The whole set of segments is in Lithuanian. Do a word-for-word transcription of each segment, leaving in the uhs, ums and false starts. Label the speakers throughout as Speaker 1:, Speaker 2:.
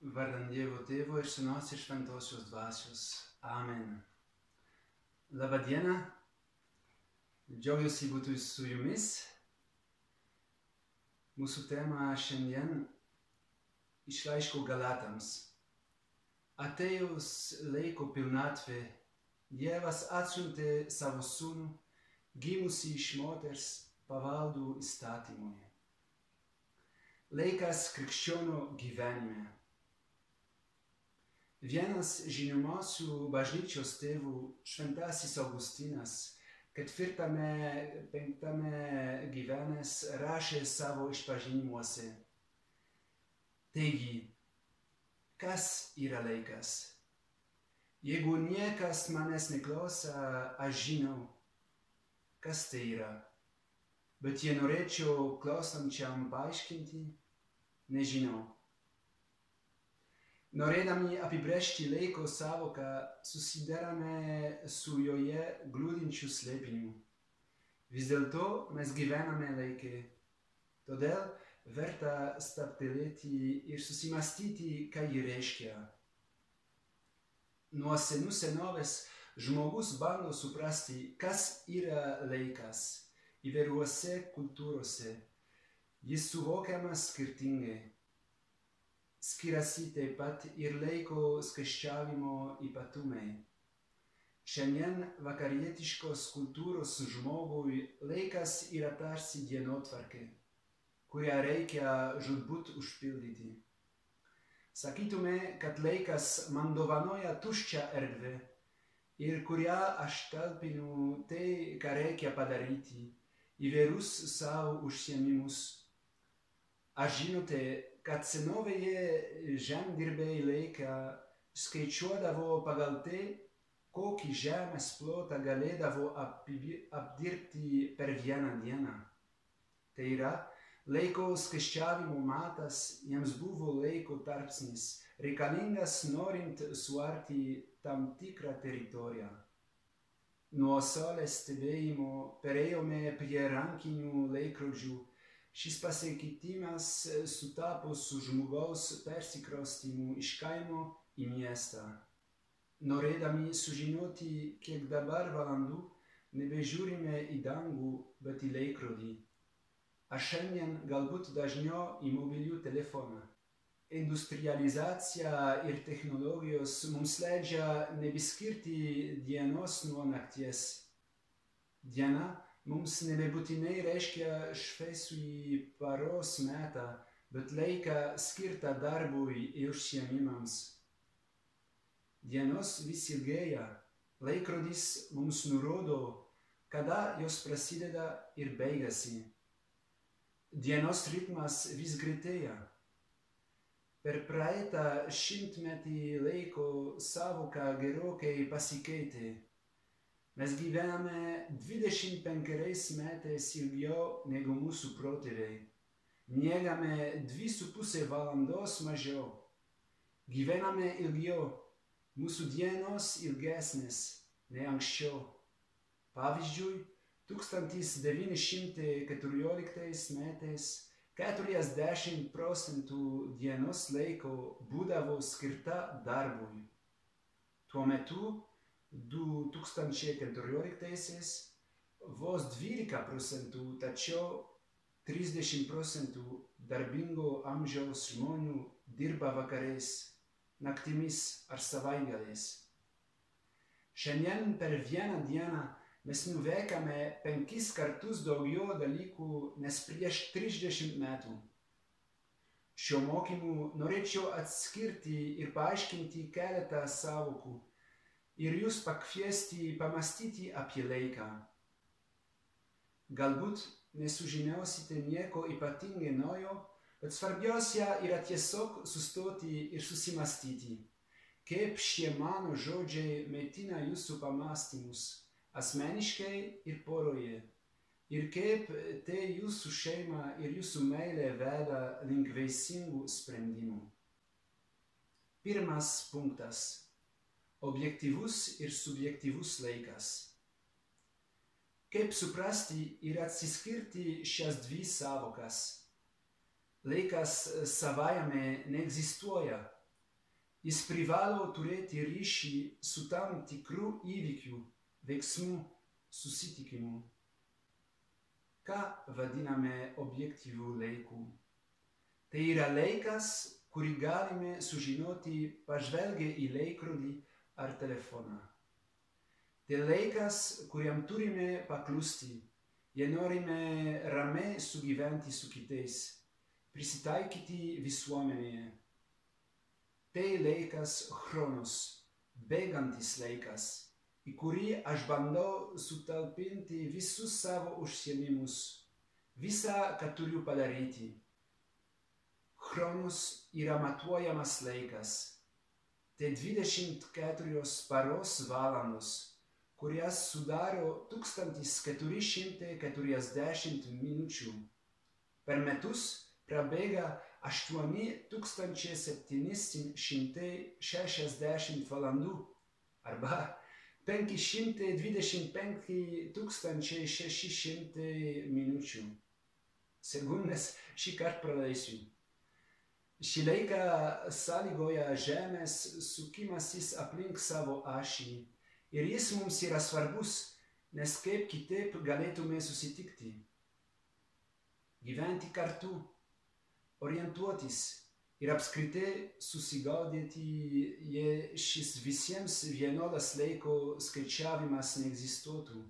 Speaker 1: Vardan Dievo Tėvo ir Sūnaus ir Šventosios Dvasios. Amen. Labą dieną. Džiaugiuosi būti su jumis. Mūsų tema šiandien iš laiško Galatams. Atėjus laiko pilnatvė, Dievas atsiuntė savo sūnų, gimusį iš moters pavaldų įstatymui. Laikas krikščionio gyvenime. Vienas žinomiausių bažnyčios tėvų, Šventasis Augustinas, ketvirtame, penktame gyvenęs, rašė savo išpažinimuose. Taigi, kas yra laikas? Jeigu niekas manęs neklausa, aš žinau, kas tai yra. Bet jei norėčiau klausančiam paaiškinti, nežinau. Norėdami apibrėžti laiko sąvoką, susidarame su joje glūdinčiu slėpiniu. Vis dėlto mes gyvename laike. Todėl verta stabtelėti ir susimastyti, ką ji reiškia. Nuo senų senovės žmogus bando suprasti, kas yra laikas įvairiuose kultūrose. Jis suvokiamas skirtingai. Skiriasi taip pat ir laiko skaičiavimo ypatumai. Šiandien vakarietiškos kultūros žmogui laikas yra tarsi dienotvarkė, kurią reikia žūtbūt užpildyti. Sakytume, kad laikas man dovanoja tuščią erdvę ir kurią aš talpinu tai, ką reikia padaryti, įvairius savo užsiėmimus. Aš žinote, kad senovėje žemdirbiai laiką skaičiuodavo pagal tai, kokį žemės plotą galėdavo apdirbti per vieną dieną. Tai yra, laiko skaičiavimo matas jiems buvo laiko tarpsnis, reikalingas norint suarti tam tikrą teritoriją. Nuo saulės stebėjimo perėjome prie rankinių laikrodžių. Šis pasikeitimas sutapo su žmogaus persikraustymu iš kaimo į miestą. Norėdami sužinoti, kiek dabar valandų, nebežiūrime į dangų, bet į laikrodį. Aš šiandien galbūt dažniau į mobilių telefoną. Industrializacija ir technologijos mums leidžia nebeskirti dienos nuo nakties. Diena mums nebebūtinai reiškia šviesųjį paros metą, bet laiką skirtą darbui ir užsiėmimams. Dienos vis ilgėja, laikrodis mums nurodo, kada jos prasideda ir baigasi. Dienos ritmas vis greitėja. Per praeitą šimtmetį laiko sąvoka gerokai pasikeitė. Mes gyvename dvidešimt penkeriais metais ilgiau negu mūsų protėviai. Miegame dvi su pusė valandos mažiau. Gyvename ilgiau. Mūsų dienos ilgesnės nei anksčiau. Pavyzdžiui, tūkstantis devyni šimtai keturioliktais metais keturiasdešimt procentų dienos laiko būdavo skirta darbui. Tuo metu du tūkstančiai keturioliktaisiais vos dvylika procentų, tačiau trisdešimt procentų darbingo amžiaus žmonių dirba vakarais, naktimis ar savaitgaliais. Šiandien per vieną dieną mes nuveikame penkis kartus daugiau dalykų nes prieš trisdešimt metų. Šiuo mokymu norėčiau atskirti ir paaiškinti keletą sąvokų ir jūs pakviesti pamastyti apie laiką. Galbūt nesužinosite nieko ypatingai naujo, bet svarbiausia yra tiesiog sustoti ir susimastyti, kaip šie mano žodžiai maitina jūsų pamąstymus, asmeniškai ir poroje, ir kaip tai jūsų šeimą ir jūsų meilę veda link vaisingų sprendimų. Pirmas punktas. Objektyvus ir subjektyvus laikas. Kaip suprasti ir atsiskirti šias dvi sąvokas? Laikas savaime neegzistuoja, Jis privalo turėti ryšį su tam tikru įvykiu, veiksmu, susitikimu. Ką vadiname objektyviu laiku? Tai yra laikas, kurį galime sužinoti pažvelgę į laikrodį ar telefoną. Tai laikas, kuriam turime paklusti, jei norime ramiai sugyventi su kitais, prisitaikyti visuomenėje. Tai laikas chronos, bėgantis laikas, į kurį aš bandau sutalpinti visus savo užsiėmimus, visą, ką turiu padaryti. Chronos yra matuojamas laikas. Tai dvidešimt keturios paros valandos, kurias sudaro tūkstantis keturi šimtai keturiasdešimt minučių. Per metus prabėga aštuoni tūkstančiai septyni šimtai šešiasdešimt valandų arba penki šimtai dvidešimt penki tūkstančiai šeši šimtai minučių. Sekundes šį kartą praleisiu. Šį laiką sąlygoja Žemės sukimasis aplink savo ašį ir jis mums yra svarbus, nes kaip kitaip galėtume susitikti. Gyventi kartu, orientuotis ir apskritai susigaudyti, jei šis visiems vienodas laiko skaičiavimas neegzistuotų.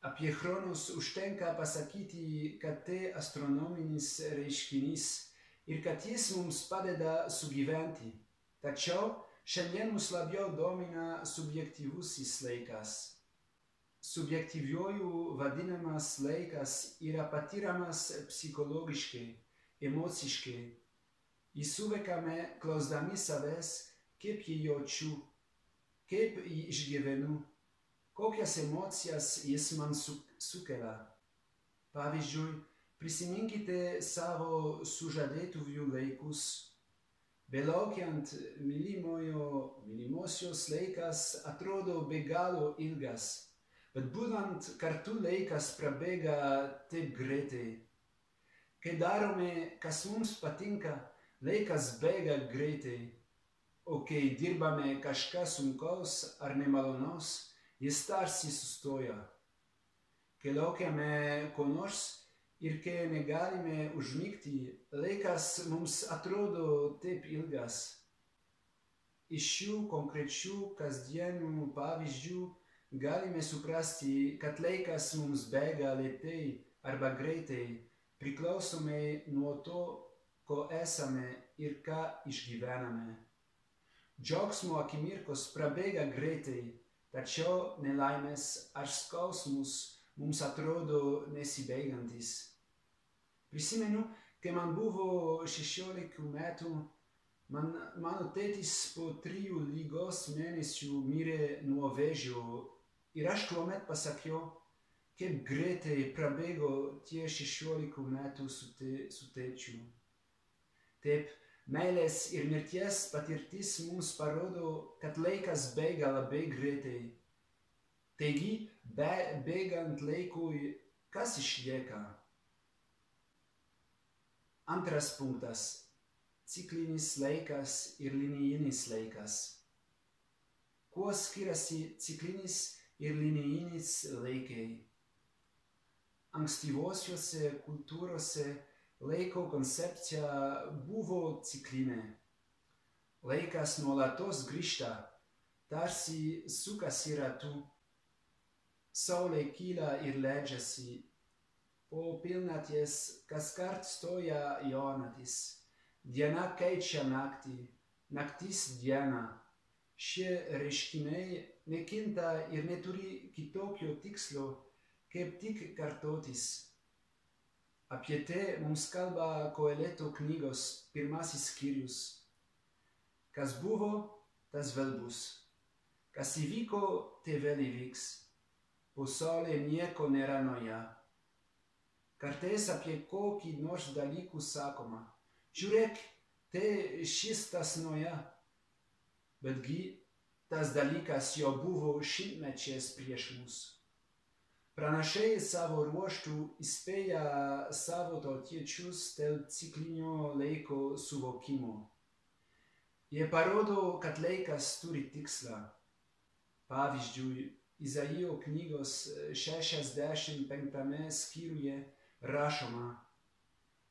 Speaker 1: Apie chronos užtenka pasakyti, kad tai astronominis reiškinys ir kad jis mums padeda sugyventi. Tačiau šiandien mus labiau domina subjektyvusis laikas. Subjektyviuoju vadinamas laikas yra patiriamas psichologiškai, emociškai. Jį suvokame klausdami savęs, kaip jį jaučiu, kaip jį išgyvenu, kokias emocijas jis man su sukelia. Pavyzdžiui, prisiminkite savo sužadėtuvių laikus. Belaukiant mylimojo, mylimosios laikas atrodo be galo ilgas, bet būnant kartu laikas prabėga taip greitai. Kai darome, kas mums patinka, laikas bėga greitai, o kai dirbame kažką sunkaus ar nemalonaus, jis tarsi sustoja. Kai laukiame ko nors ir kai negalime užmigti, laikas mums atrodo taip ilgas. Iš šių konkrečių kasdienių pavyzdžių galime suprasti, kad laikas mums bėga lėtai arba greitai, priklausomai nuo to, ko esame ir ką išgyvename. Džiaugsmo akimirkos prabėga greitai, tačiau nelaimės ar skausmus mums atrodo nesibaigiantis. Prisimenu, kai man buvo šešiolika metų, man, mano tėtis po trijų ligos mėnesių mirė nuo vėžio ir aš tuomet pasakiau, kaip greitai prabėgo tie šešiolika metų su, te, su tėčiu. Taip, meilės ir mirties patirtis mums parodo, kad laikas bėga labai greitai. Taigi, be, bėgant laikui, kas išlieka? Antras punktas – ciklinis laikas ir linijinis laikas. Kuo skiriasi ciklinis ir linijinis laikai? Ankstyvosiuose kultūrose laiko koncepcija buvo ciklinė. Laikas nuolatos grįžta, tarsi sukasi ratu. Saulė kyla ir leidžiasi. Po pilnaties kaskart stoja jaunatis. Diena keičia naktį, naktis dieną. Šie reiškiniai nekinta ir neturi kitokio tikslo, kaip tik kartotis. Apie tai mums kalba Koeleto knygos pirmasis skyrius. Kas buvo, tas vėl bus. Kas įvyko, tai vėl įvyks. Po saulė nieko nėra nauja. Kartais apie kokį nors dalykų sakoma. Žiūrėk, tai šis tas nauja. Betgi tas dalykas jau buvo šimtmečiais prieš mus. Pranašai savo ruožtų įspėja savo tautiečius dėl ciklinio laiko suvokimo. Jie parodo, kad laikas turi tikslą. Pavyzdžiui, Izaijo knygos šešiasdešimt penktame skyriuje rašoma: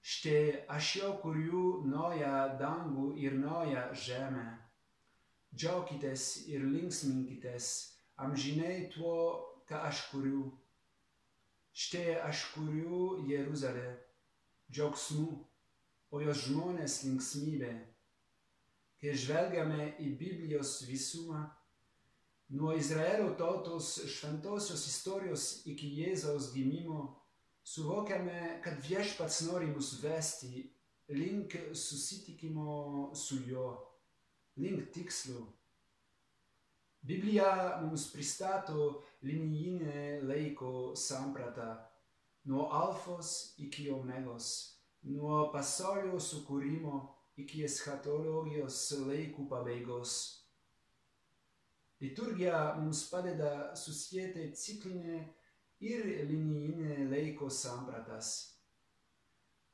Speaker 1: Štai aš jau kuriu naują dangų ir naują žemę. Džiaukitės ir linksminkitės amžinai tuo, ką aš kuriu. Štai aš kuriu Jeruzalę džiaugsmu, o jos žmonės linksmybė. Kai žvelgiame į Biblijos visumą, nuo Izraelio tautos šventosios istorijos iki Jėzaus gimimo, suvokiame, kad Viešpats nori mus vesti link susitikimo su juo, link tikslo. Biblija mums pristato linijinę laiko sampratą, nuo alfos iki omegos, nuo pasaulio sukūrimo iki eschatologijos laikų pabaigos. Liturgija mums padeda susieti ciklinę ir linijinę laiko sampratas.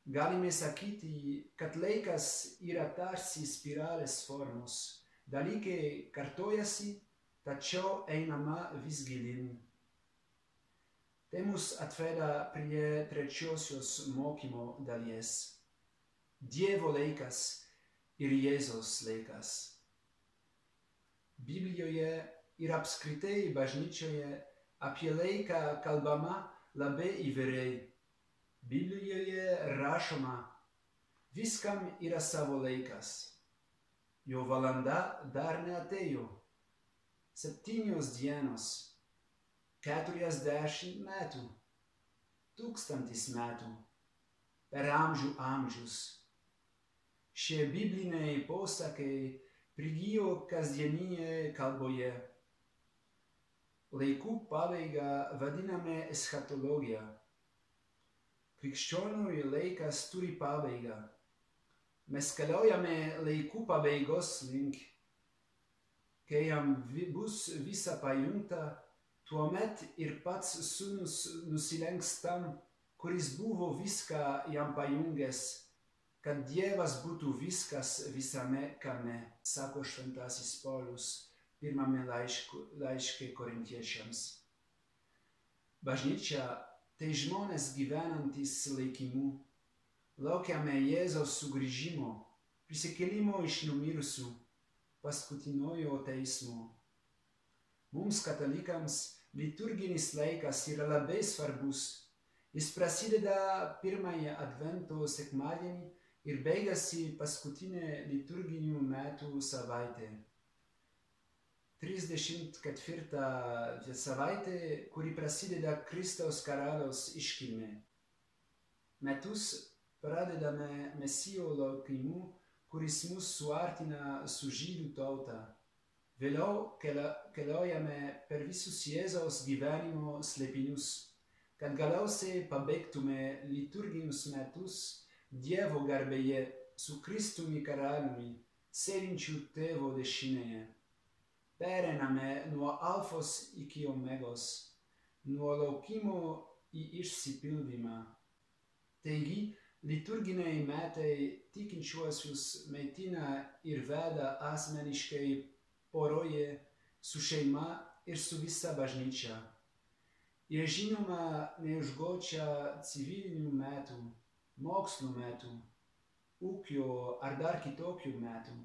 Speaker 1: Galime sakyti, kad laikas yra tarsi spiralės formos. Dalykai kartojasi, tačiau einama vis gilyn. Tai mus atveda prie trečiosios mokymo dalies. Dievo laikas ir Jėzaus laikas. Biblijoje ir apskritai bažnyčioje apie laiką kalbama labai įvairiai. Biblijoje rašoma: viskam yra savo laikas. Jo valanda dar neatėjo. Septynios dienos, keturiasdešimt metų, tūkstantis metų, per amžių amžius. Šie bibliniai posakiai prigijo kasdieninėje kalboje. Laikų pabaigą vadiname eschatologija. Krikščioniui laikas turi pabaigą. Mes keliaujame laikų pabaigos link. Kai jam bus visa pajungta, tuomet ir pats sūnus nusilenks tam, kuris buvo viską jam pajungęs, kad Dievas būtų viskas visame kame, sako šventasis Paulius pirmame laiške korintiečiams. Bažnyčia tai žmonės gyvenantys laikimu. Laukiame Jėzaus sugrįžimo, prisikėlimo iš numirusių, paskutiniojo teismo. Mums katalikams liturginis laikas yra labai svarbus. Jis prasideda pirmąją Advento sekmadienį ir baigasi paskutinę liturginių metų savaitę. trisdešimt ketvirta savaitė, kuri prasideda Kristaus karaliaus iškilme. Metus pradedame Mesijo laukimu, kuris mus suartina su žydų tauta. Vėliau keliaujame per visus Jėzaus gyvenimo slėpinius, kad galiausiai pabaigtume liturginius metus Dievo garbėje su Kristumi karaliumi, sėdinčiu tėvo dešinėje. Pereiname nuo alfos iki omegos, nuo laukimo į išsipildymą. Taigi, liturginiai metai tikinčiuosius maitina ir veda asmeniškai poroje, su šeima ir su visa bažnyčia. Jie žinoma neužgočia civilinių metų, mokslo metų, ūkio ar dar kitokių metų,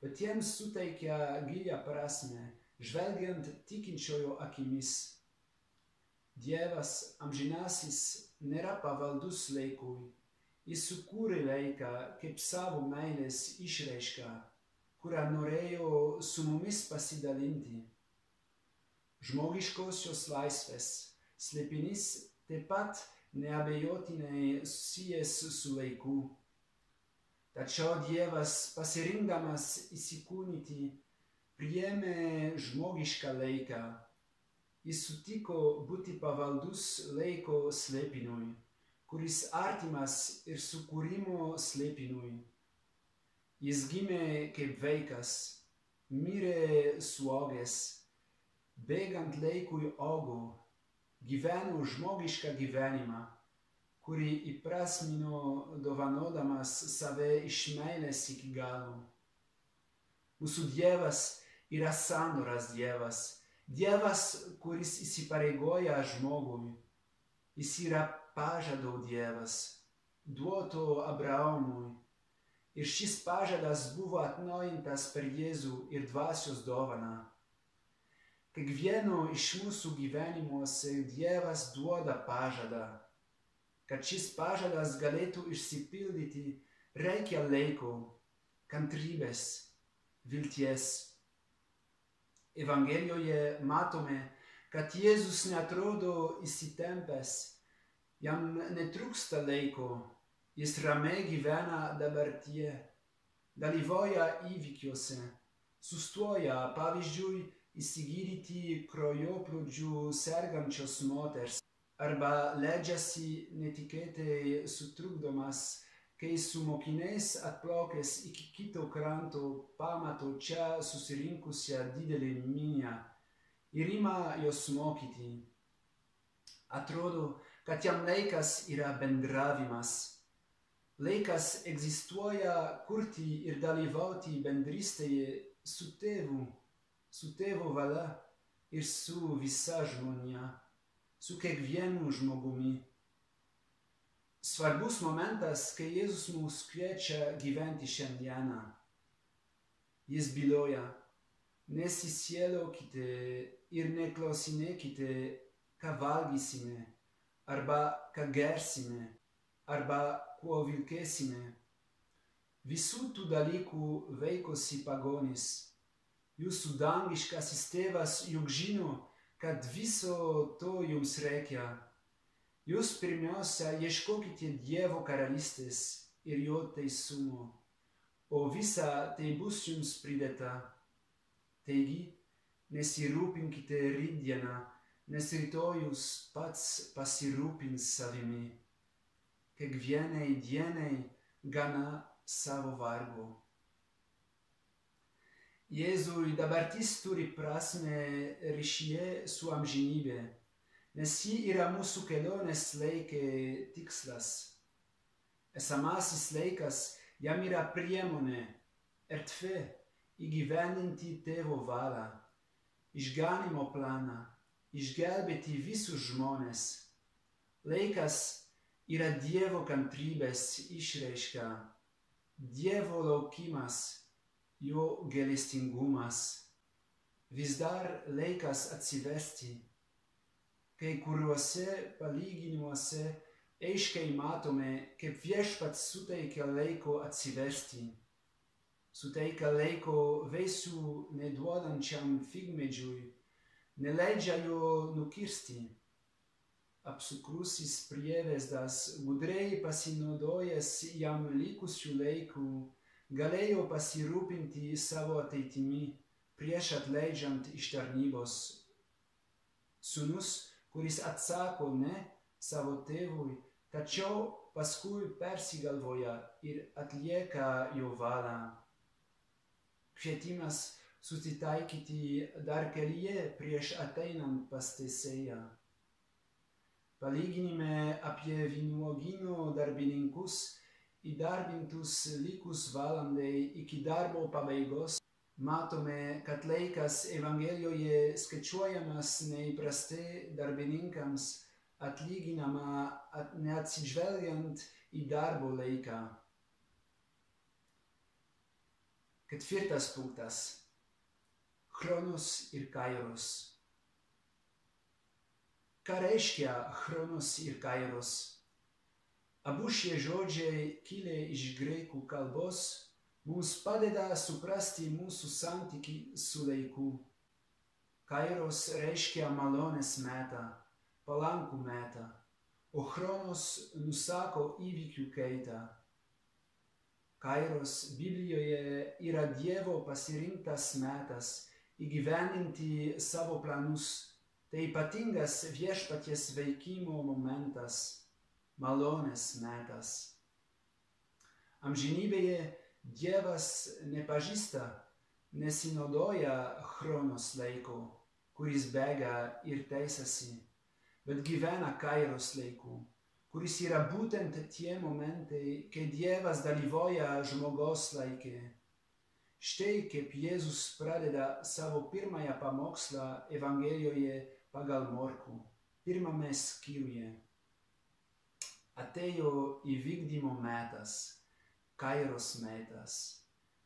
Speaker 1: bet jiems suteikia gilią prasmę, žvelgiant tikinčiojo akimis. Dievas amžinasis nėra pavaldus laikui. Jis sukūrė laiką kaip savo meilės išraišką, kurią norėjo su mumis pasidalinti. Žmogiškosios laisvės slėpinys taip pat neabejotinai susijęs su laiku. Tačiau Dievas, pasirinkdamas įsikūnyti, priėmė žmogišką laiką. Jis sutiko būti pavaldus laiko slėpiniui, kuris artimas ir sukūrimo slėpiniui. Jis gimė kaip vaikas, mirė suaugęs, bėgant laikui augo, gyveno žmogišką gyvenimą, kurį įprasmino dovanodamas save iš meilės iki galo. Mūsų Dievas yra sandoras Dievas. Dievas, kuris įsipareigoja žmogui. Jis yra pažado Dievas, duoto Abraomui. Ir šis pažadas buvo atnaujintas per Jėzų ir dvasios dovaną. Kiekvieno iš mūsų gyvenimuose Dievas duoda pažadą. Kad šis pažadas galėtų išsipildyti, reikia laiko, kantrybės, vilties. Evangelijoje matome, kad Jėzus neatrodo įsitempęs, jam netrūksta laiko, jis ramiai gyvena dabartyje, dalyvauja įvykiuose, sustoja, pavyzdžiui, įsigydyti kraujoplūdžiu sergančios moters arba leidžiasi netikėtai sutrukdomas, kai su mokiniais atplaukęs iki kito kranto pamato čia susirinkusią didelę minią ir ima jos mokyti. Atrodo, kad jam laikas yra bendravimas. Laikas egzistuoja kurti ir dalyvauti bendrystėje su tėvu, su tėvo valia ir su visa žmonija, su kiekvienu žmogumi. Svarbus momentas, kai Jėzus mus kviečia gyventi šiandieną. Jis byloja, nesisielokite ir neklausinėkite, ką valgysime, arba ką gersime, arba kuo vilkėsime. Visų tų dalykų vaikosi pagonys. Jūsų dangiškasis tėvas juk žino, kad viso to jums reikia. Jūs pirmiausia ieškokite Dievo karalystės ir jo teisumo, o visa tai bus jums pridėta. Taigi, nesirūpinkite rytdieną, nes rytojus pats pasirūpins savimi. Kiekvienai dienai gana savo vargo. Jėzui dabartis turi prasmę ryšyje su amžinybė, nes ji yra mūsų kelionės laike tikslas. Esamasis laikas jam yra priemonė, erdvė įgyvendinti tėvo valią, išganymo planą, išgelbėti visus žmones. Laikas yra Dievo kantrybės išraiška, Dievo laukimas, jo gailestingumas. Vis dar laikas atsiversti. Kai kuriuose palyginimuose aiškiai matome, kaip Viešpats suteikia laiko atsiversti. Suteikia laiko vaisių neduodančiam figmedžiui, neleidžia jo nukirsti. Apsukrusis prievesdas, gudriai pasinaudojęs jam likusių laikų, galėjo pasirūpinti savo ateitimi prieš atleidžiant iš tarnybos. Sūnus, kuris atsako ne savo tėvui, tačiau paskui persigalvoja ir atlieka jo valią. Kvietimas susitaikyti dar kelyje prieš ateinant pas teisėją. Palyginime apie vynuogyno darbininkus įdarbintus likus valandai iki darbo pabaigos, matome, kad laikas Evangelijoje skaičiuojamas neįprastai darbininkams atlyginama at neatsižvelgiant į darbo laiką. Ketvirtas punktas. Chronos ir kairos. Ką reiškia chronos ir kairos? Abu šie žodžiai kilę iš graikų kalbos mums padeda suprasti mūsų santykį su laiku. Kairos reiškia malonės metą, palankų metą, o chronos nusako įvykių kaitą. Kairos Biblijoje yra Dievo pasirinktas metas įgyvendinti savo planus. Tai ypatingas Viešpaties veikimo momentas. Malonės metas. Amžinybėje Dievas nepažįsta, nesinaudoja chronos laiko, kuris bėga ir teisasi, bet gyvena kairos laiku, kuris yra būtent tie momentai, kai Dievas dalyvauja žmogaus laike. Štai kaip Jėzus pradeda savo pirmąją pamokslą Evangelijoje pagal Morkų, pirmame skyriuje. Atėjo įvykdymo metas, Kairos metas,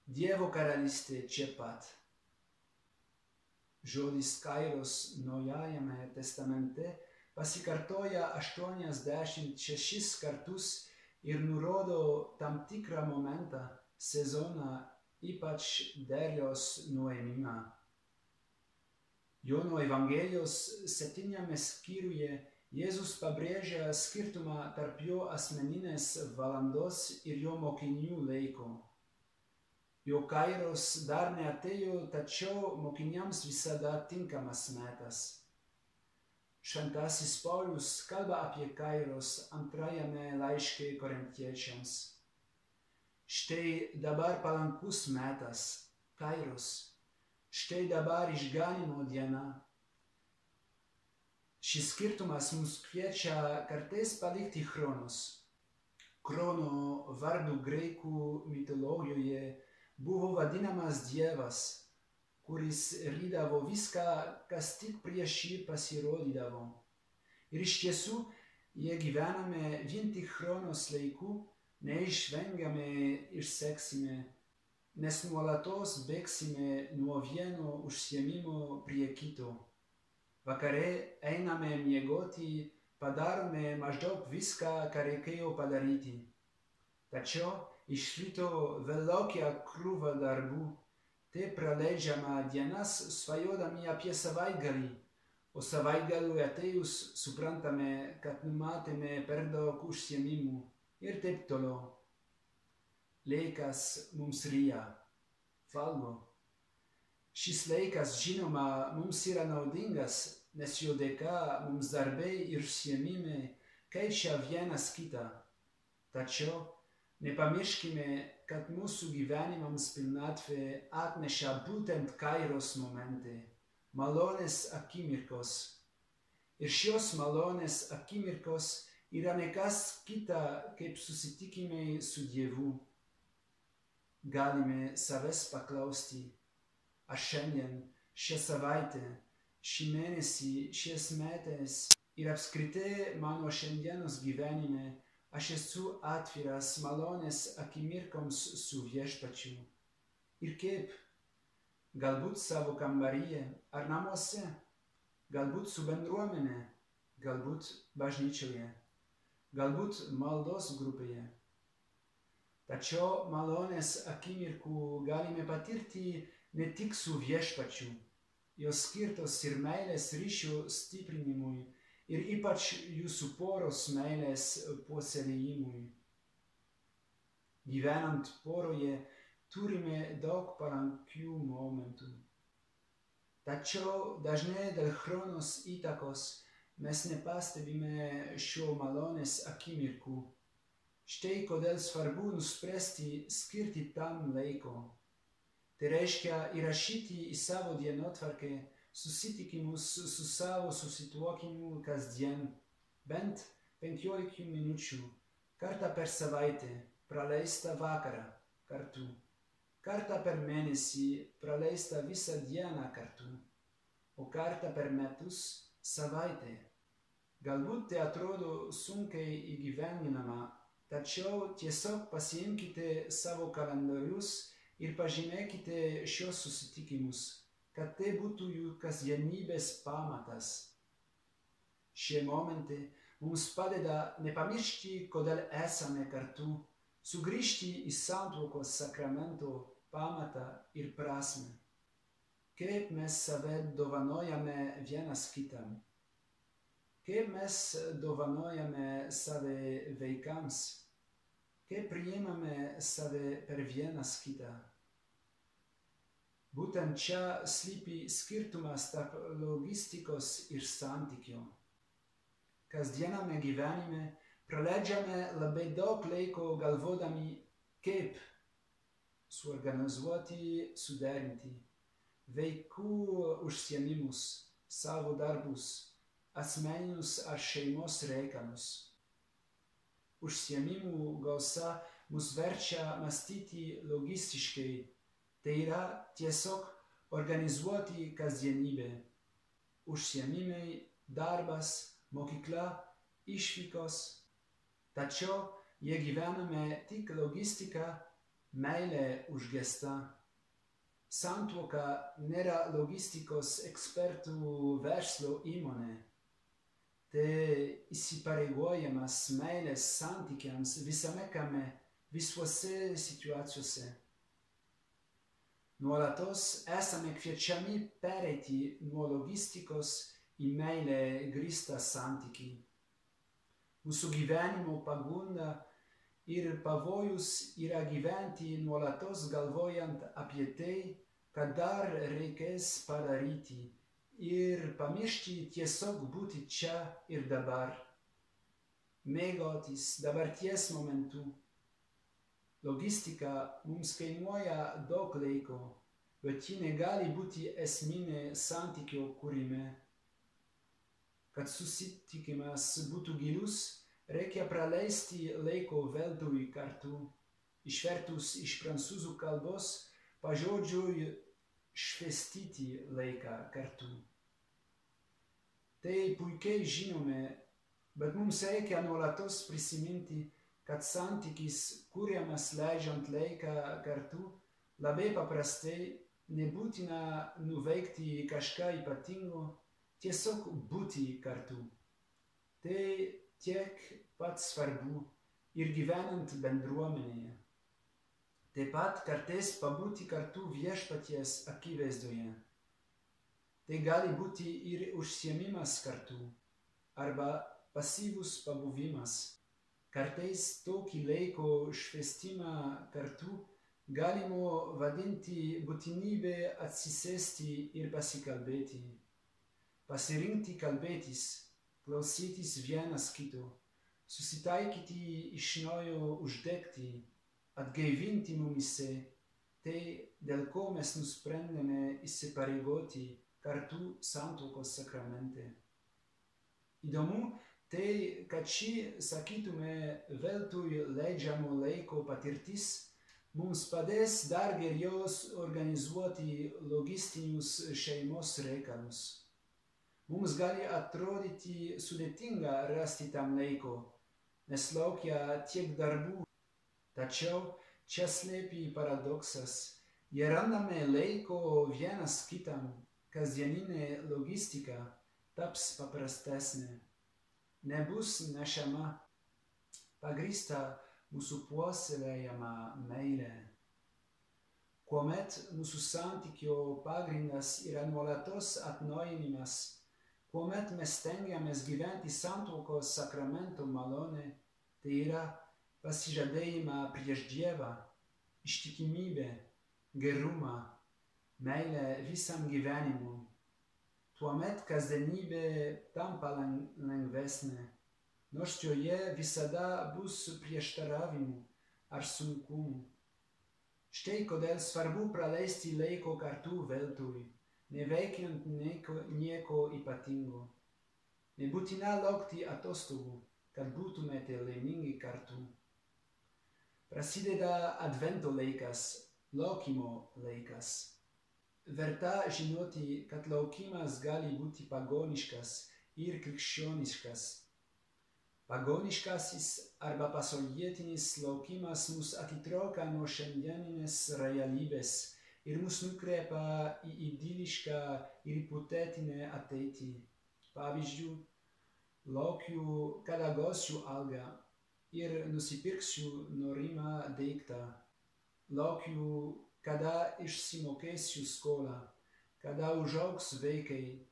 Speaker 1: Dievo karalystė čia pat. Žodis Kairos Naujajame testamente pasikartoja aštuoniasdešimt šešis kartus ir nurodo tam tikrą momentą, sezoną, ypač derliaus nuėmimą. Jono Evangelijos septyniame skyriuje Jėzus pabrėžia skirtumą tarp jo asmeninės valandos ir jo mokinių laiko. Jo Kairos dar neatėjo, tačiau mokiniams visada tinkamas metas. Šventasis Paulius kalba apie Kairos antrajame laiške Korintiečiams. Štai dabar palankus metas, Kairos, štai dabar išganymo diena. Šis skirtumas mus kviečia kartais palikti Chronos. Chrono vardu graikų mitologijoje buvo vadinamas Dievas, kuris rydavo viską, kas tik prieš jį pasirodydavo. Ir iš tiesų, jei gyvename vien tik Chronos laiku, neišvengiamai išseksime, nes nuolatos bėgsime nuo vieno užsiėmimo prie kito. Vakare einame miegoti, padarome maždaug viską, ką reikėjo padaryti. Tačiau iš ryto vėl laukia krūva darbų, tai praleidžiame dienas svajodami apie savaitgalį, o savaitgaliui atėjus suprantame, kad numatėme per daug užsiėmimų. Ir taip toliau. Laikas mums ryja, valgo. Šis laikas, žinoma, mums yra naudingas, nes jo dėka mums darbai ir užsiėmimai keičia vienas kitą. Tačiau nepamirškime, kad mūsų gyvenimams pilnatvė atneša būtent Kairos momentai, malonės akimirkos. Ir šios malonės akimirkos yra nekas kita, kaip susitikimai su Dievu. Galime savęs paklausti, ar šiandien, šią savaitę, šį mėnesį, šiais metais ir apskritai mano šiandienos gyvenime aš esu atviras malonės akimirkoms su Viešpačiu. Ir kaip? Galbūt savo kambaryje ar namuose, galbūt su bendruomene, galbūt bažnyčioje. Galbūt maldos grupėje. Tačiau malonės akimirkų galime patirti ne tik su Viešpačiu, jos skirtos ir meilės ryšių stiprinimui ir ypač jūsų poros meilės puoselėjimui. Gyvenant poroje turime daug palankių momentų. Tačiau dažnai dėl Chronos įtakos mes nepastebime šio malonės akimirkų. Štai kodėl svarbu nuspręsti skirti tam laiko. Tai reiškia įrašyti į savo dienotvarkę susitikimus su savo susituokiniu kasdien, bent penkiolika minučių, kartą per savaitę praleistą vakarą kartu, kartą per mėnesį praleistą visą dieną kartu, o kartą per metus savaitę. Galbūt tai atrodo sunkiai įgyvendinama, tačiau tiesiog pasiimkite savo kalendorius ir pažymėkite šios susitikimus, kad tai būtų jų kasdienybės pamatas. Šie momentai mums padeda nepamiršti, kodėl esame kartu, sugrįžti į santuokos sakramento pamatą ir prasmę. Kaip mes save dovanojame vienas kitam? Kaip mes dovanojame save vaikams? Kaip priimame save per vienas kitą? Būtent čia slypi skirtumas tarp logistikos ir santykio. Kasdiename gyvenime praleidžiame labai daug laiko galvodami, kaip suorganizuoti, suderinti vaikų užsiėmimus, savo darbus, asmeninius ar šeimos reikalus. Užsiėmimų gausa mus verčia mąstyti logistiškai, Tai yra tiesiog organizuoti kasdienybę. Užsiėmimai, darbas, mokykla, išvykos. Tačiau jie gyvename tik logistika, meilė užgesta. Santuoka nėra logistikos ekspertų verslo įmonė. Tai įsipareigojimas meilės santykiams visame kame, visuose situacijose. Nuolatos esame kviečiami pereiti nuo logistikos į meilę grįstą santykį. Mūsų gyvenimo pagunda ir pavojus yra gyventi nuolatos galvojant apie tai, ką dar reikės padaryti, ir pamiršti tiesiog būti čia ir dabar. Mėgautis dabarties momentu. Logistika mums kainuoja daug laiko, bet ji negali būti esminė santykio kūrime. Kad susitikimas būtų gilus, reikia praleisti laiko veltui kartu. Išvertus iš prancūzų kalbos, pažodžiui švaistyti laiką kartu. Tai puikiai žinome, bet mums reikia nuolatos prisiminti, kad santykis kuriamas leidžiant laiką kartu, labai paprastai nebūtina nuveikti kažką ypatingo, tiesiog būti kartu. Tai tiek pat svarbu ir gyvenant bendruomenėje. Taip pat kartais pabūti kartu viešpaties akivaizdoje. Tai gali būti ir užsiėmimas kartu, arba pasyvus pabuvimas. Kartais tokį laiko švaistimą kartu galima vadinti būtinybę atsisėsti ir pasikalbėti. Pasirinkti kalbėtis, klausytis vienas kito, susitaikyti iš naujo uždegti, atgaivinti mumyse tai, dėl ko mes nusprendėme įsipareigoti kartu santuokos sakramente. Įdomu, tai, kad ši, sakytume, veltui leidžiamo laiko patirtis mums padės dar geriau organizuoti logistinius šeimos reikalus. Mums gali atrodyti sudėtinga rasti tam laiko, nes laukia tiek darbų. Tačiau čia slypi paradoksas. Jei randame laiko vienas kitam, kasdieninė logistika taps paprastesnė. Nebus nešama, pagrįsta mūsų puoselėjama meilė. Kuomet mūsų santykio pagrindas yra nuolatos atnaujinimas, kuomet mes stengiamės gyventi santuokos sakramento malonę, tai yra pasižadėjimą prieš Dievą, ištikimybę, gerumą, meilę visam gyvenimui. Tuomet kasdienybė tampa lengvesnė, nors joje visada bus prieštaravimų ar sunkumų. Štai kodėl svarbu praleisti laiko kartu veltui, neveikiant nieko, nieko ypatingo. Nebūtina laukti atostogų, kad būtumėte laimingi kartu. Prasideda advento laikas, laukimo laikas. Verta žinoti, kad laukimas gali būti pagoniškas ir krikščioniškas. Pagoniškasis arba pasaulietinis laukimas mus atitraukia nuo šiandieninės realybės ir mus nukreipia į idilišką ir hipotetinę ateitį. Pavyzdžiui, laukiu, kada gausiu algą ir nusipirksiu norimą daiktą. Laukiu, kada išsimokėsiu skolą, kada užaugs vaikai,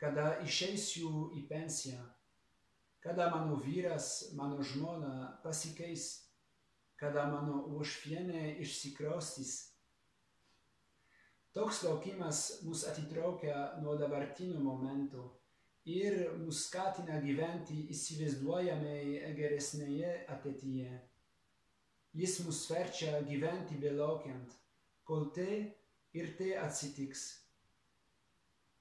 Speaker 1: kada išeisiu į pensiją, kada mano vyras, mano žmona pasikeis, kada mano uošvienė išsikraustys. Toks laukimas mus atitraukia nuo dabartinio momento ir mus skatina gyventi įsivaizduojamai geresnėje ateityje. Jis mus verčia gyventi belaukiant, kol tai ir tai atsitiks.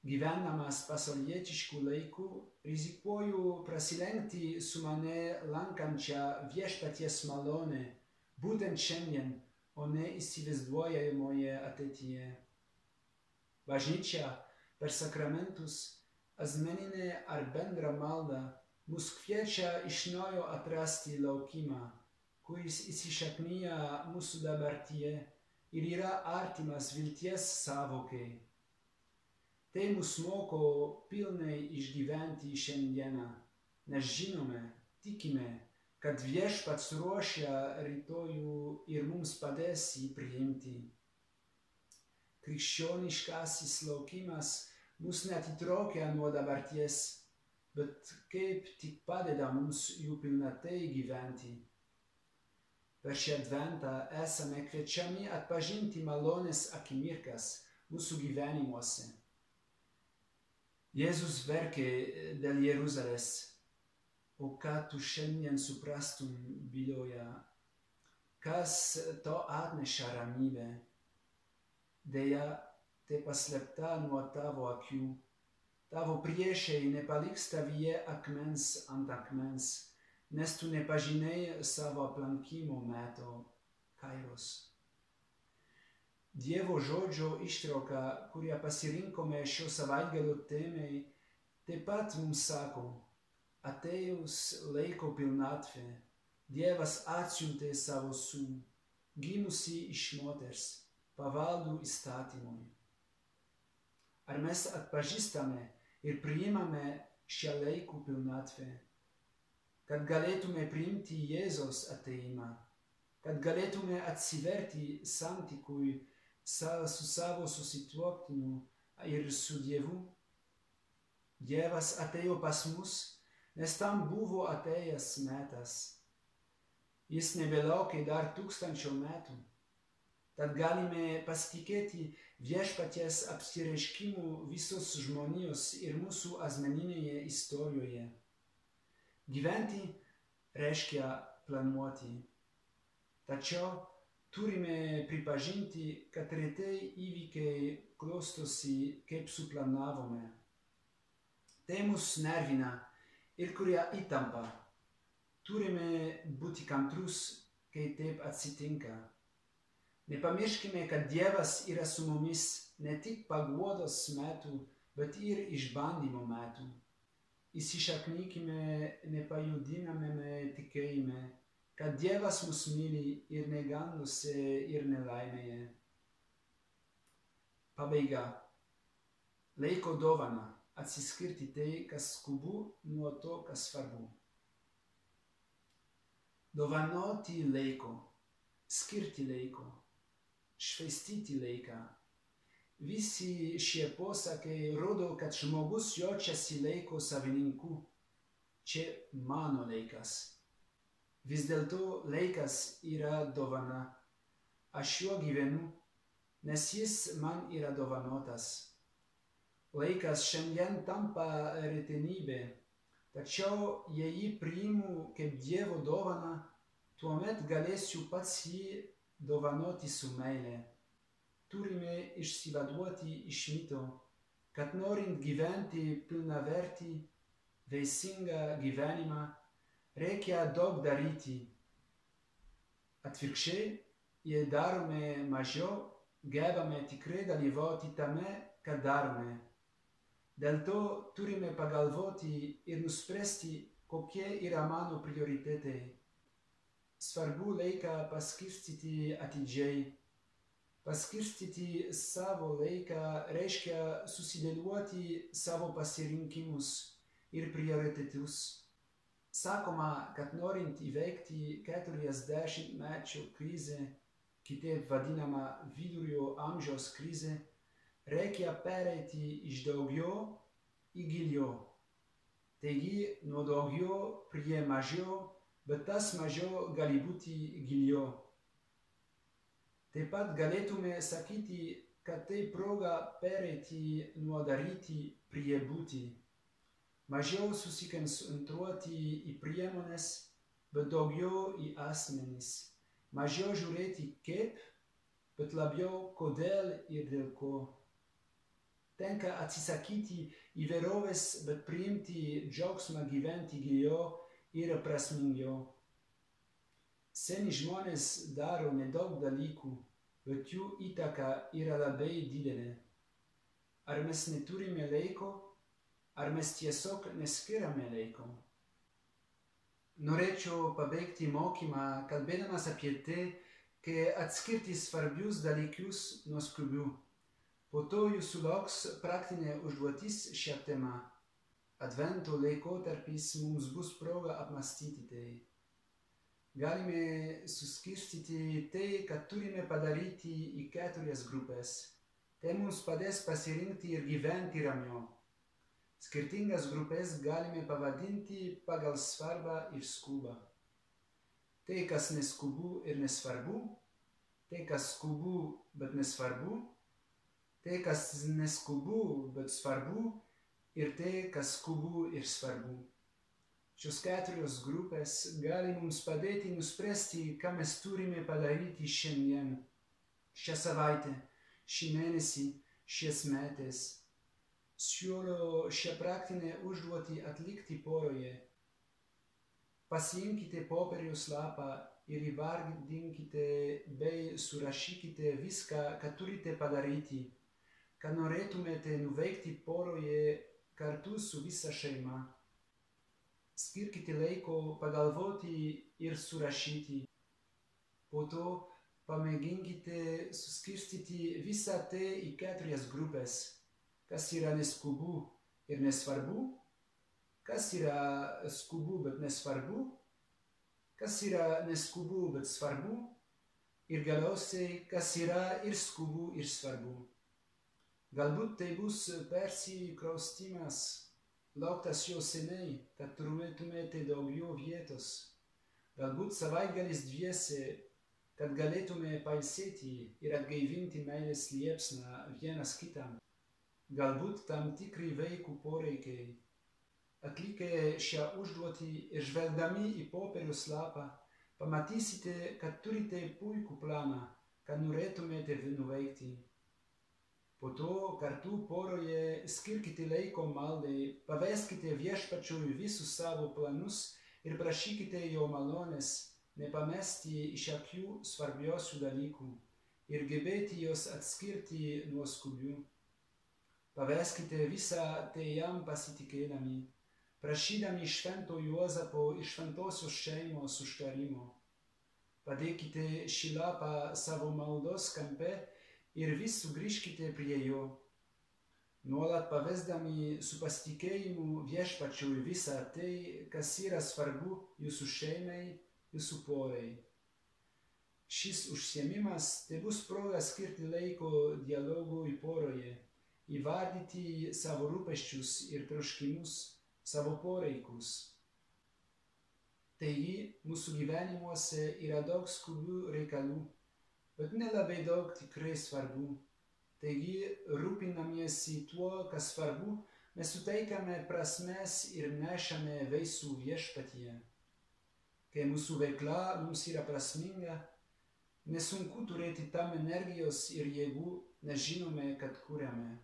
Speaker 1: Gyvenamas pasaulietiškų laikų, rizikuoju prasilenkti su mane lankančia viešpaties malone, būtent šiandien, o ne įsivaizduojamoje ateityje. Bažnyčia per sakramentus, asmeninę ar bendrą maldą mus kviečia iš naujo atrasti laukimą, kuris įsišaknyja mūsų dabartyje ir yra artimas vilties sąvokai. Tai mus moko pilnai išgyventi šiandieną, nes žinome, tikime, kad Viešpats ruošia rytojų ir mums padės jį priimti. Krikščioniškasis laukimas mus neatitraukia nuo dabarties, bet kaip tik padeda mums jų pilnatai gyventi. Per šį adventą esame kviečiami atpažinti malonės akimirkas mūsų gyvenimuose. Jėzus verkė dėl Jeruzalės, o ką tu šiandien suprastum byloja, kas to atneša ramybę. Deja, tai paslėpta nuo tavo akių. Tavo priešai nepaliks tavyje akmens ant akmens, nes tu nepažinai savo aplankimo meto kairos. Dievo žodžio ištrauka, kurią pasirinkome šio savaitgalio temai, taip pat mums sako, atėjus laiko pilnatvė, Dievas atsiuntė savo sūnų, gimusį iš moters, pavaldų įstatymui. Ar mes atpažįstame ir priimame šią laiko pilnatvę, kad galėtume priimti Jėzaus atėjimą, kad galėtume atsiverti santykui su savo susituoktiniu ir su Dievu? Dievas atėjo pas mus, nes tam buvo atėjęs metas. Jis nebelaukė dar tūkstančio metų. Tad galime pasitikėti Viešpaties apsireiškimu visos žmonijos ir mūsų asmeninėje istorijoje. Gyventi reiškia planuoti. Tačiau turime pripažinti, kad retai įvykiai klostosi, kaip suplanavome. Tai mus nervina ir kuria įtampa. Turime būti kantrus, kai taip atsitinka. Nepamirškime, kad Dievas yra su mumis ne tik paguodos metu, bet ir išbandymo metu. Įsišaknykime nepajudinamame tikėjime, kad Dievas mus myli ir neganduose ir nelaimėje. Pabaiga. Laiko dovana atsiskirti tai, kas skubu, nuo to, kas svarbu. Dovanoti laiko, skirti laiko, švaistyti laiką. Visi šie posakiai rodo, kad žmogus jaučiasi laiko savininku. Čia mano laikas. Vis dėlto laikas yra dovana. Aš juo gyvenu, nes jis man yra dovanotas. Laikas šiandien tampa retenybė, tačiau jei jį priimu kaip Dievo dovaną, tuomet galėsiu pats jį dovanoti su meile. Turime išsivaduoti iš mito, kad norint gyventi pilnavertį, vaisingą gyvenimą, reikia daug daryti. Atvirkščiai, jei darome mažiau, gebame tikrai dalyvauti tame, ką darome. Dėl to turime pagalvoti ir nuspręsti, kokie yra mano prioritetai. Svarbu laiką paskirstyti atidžiai. Paskirstyti savo laiką reiškia susidėlioti savo pasirinkimus ir prioritetus. Sakoma, kad norint įveikti keturiasdešimtmečio krizę, kitaip vadinama vidurio amžiaus krizė, reikia pereiti iš daugiau į giliau. Taigi, nuo daugiau prie mažiau, bet tas mažiau gali būti giliau. Taip pat galėtume sakyti, kad tai proga pereiti nuo daryti prie būti. Mažiau susikoncentruoti į priemones, bet daugiau į asmenis. Mažiau žiūrėti kaip, bet labiau kodėl ir dėl ko. Tenka atsisakyti įvairovės, bet priimti džiaugsmą gyventi giliau ir prasmingiau. Seni žmonės daro nedaug dalykų, bet jų įtaka yra labai didelė. Ar mes neturime laiko, ar mes tiesiog neskiriame laiko? Norėčiau pabaigti mokymą, kalbėdamas apie tai, kai atskirti svarbius dalykus nuo skubių. Po to jūsų lauks praktinė užduotis šią temą. Advento laikotarpis mums bus proga apmąstyti tai. Galime suskirstyti tai, ką turime padaryti į keturias grupės. Tai mums padės pasirinkti ir gyventi ramiau. Skirtingas grupės galime pavadinti pagal svarbą ir skubą. Tai, kas neskubu ir nesvarbu, tai, kas skubu, bet nesvarbu, tai, kas neskubu, bet svarbu, ir tai, kas skubu ir svarbu. Šios keturios grupės gali mums padėti nuspręsti, ką mes turime padaryti šiandien, šią savaitę, šį mėnesį, šiais metais. Siūlau šią praktinę užduotį atlikti poroje. Pasiimkite popieriaus lapą ir įvardinkite bei surašykite viską, ką turite padaryti, ką norėtumėte nuveikti poroje kartu su visa šeima. Skirkite laiko pagalvoti ir surašyti. Po to pamėginkite suskirstyti visą tai į keturias grupės. Kas yra neskubu ir nesvarbu, kas yra skubu, bet nesvarbu, kas yra neskubu, bet svarbu, ir galiausiai, kas yra ir skubu, ir svarbu. Galbūt tai bus persikraustymas, lauktas jau seniai, kad turėtumėte daugiau vietos. Galbūt savaitgalis dviese, kad galėtume pailsėti ir atgaivinti meilės liepsną vienas kitam. Galbūt tam tikri vaikų poreikiai. Atlikę šią užduotį ir žvelgdami į popieriaus lapą, pamatysite, kad turite puikų planą, ką norėtumėte nuveikti. Po to kartu poroje skirkite laiko maldai, paveskite Viešpačiui visus savo planus ir prašykite jo malonės nepamesti iš akių svarbiausių dalykų ir gebėti juos atskirti nuo skubių. Paveskite visą tai jam pasitikėdami, prašydami švento Juozapo ir šventosios šeimos užtarimo. Padėkite šį lapą savo maldos kampe ir vis sugrįžkite prie jo. Nuolat pavesdami su pasitikėjimu Viešpačiui visą tai, kas yra svarbu jūsų šeimai, jūsų porai. Šis užsiėmimas tai bus proga skirti laiko dialogui poroje, įvardyti savo rūpesčius ir troškimus, savo poreikius. Taigi, mūsų gyvenimuose yra daug skubių reikalų, bet nelabai daug tikrai svarbu. Taigi, rūpinamiesi tuo, kas svarbu, mes suteikiame prasmės ir nešame vaisių Viešpatyje. Kai mūsų veikla mums yra prasminga, nesunku turėti tam energijos ir jėgų, nes žinome, kad kuriame.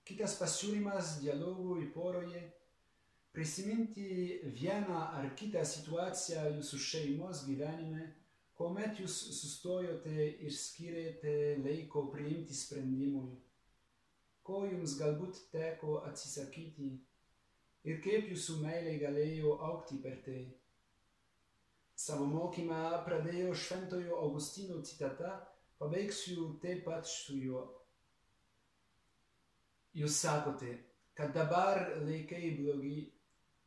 Speaker 1: Kitas pasiūlymas dialogui poroje – prisiminti vieną ar kitą situaciją jūsų šeimos gyvenime, kuomet jūs sustojote ir skyrėte laiko priimti sprendimui, ko jums galbūt teko atsisakyti ir kaip jūsų meilė galėjo augti per tai. Savo mokymą pradėjo šventojo Augustino citata, pabaigsiu taip pat su juo. Jūs sakote, kad dabar laikai blogi,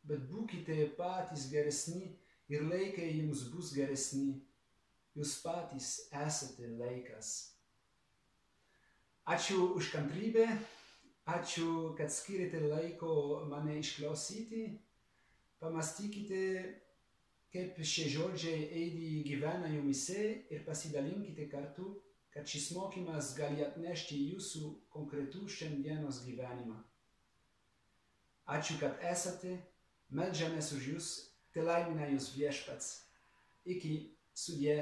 Speaker 1: bet būkite patys geresni ir laikai jums bus geresni. Jūs patys esate laikas. Ačiū už kantrybę, ačiū, kad skirėte laiko mane išklausyti. Pamastykite, kaip šie žodžiai eidį gyvena jumise ir pasidalinkite kartu, kad šis mokymas gali atnešti jūsų konkretų šiandienos gyvenimą. Ačiū, kad esate, meldžiamės už jūs, te laimina jūs Viešpats. Iki, sudie.